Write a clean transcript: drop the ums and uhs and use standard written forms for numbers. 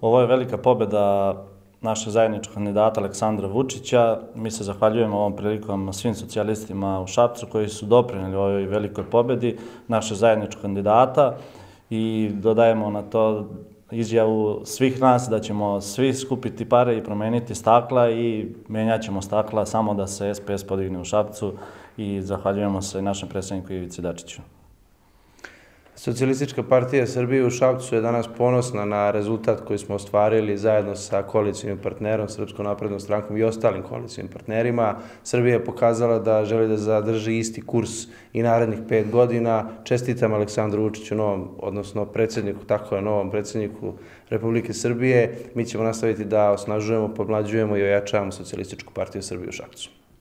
Ovo je velika pobjeda našeg zajedničkog kandidata Aleksandra Vučića. Mi se zahvaljujemo ovom prilikom svim socijalistima u Šapcu koji su doprinijeli ovoj velikoj pobjedi našeg zajedničkog kandidata i dodajemo na to izjavu svih nas da ćemo svi skupiti pare i promeniti stakla i menjat ćemo stakla samo da se SPS podigne u Šapcu i zahvaljujemo se našem predsjedniku Ivici Dačiću. Socijalistička partija Srbije u Šapcu je danas ponosna na rezultat koji smo ostvarili zajedno sa koalicijnim partnerom, Srpskom naprednom strankom i ostalim koalicijnim partnerima. Srbija je pokazala da želi da zadrži isti kurs i narednih 5 godina. Čestitam Aleksandru Vučiću, novom predsjedniku Republike Srbije. Mi ćemo nastaviti da osnažujemo, pomlađujemo i ojačavamo Socijalističku partiju Srbije u Šapcu.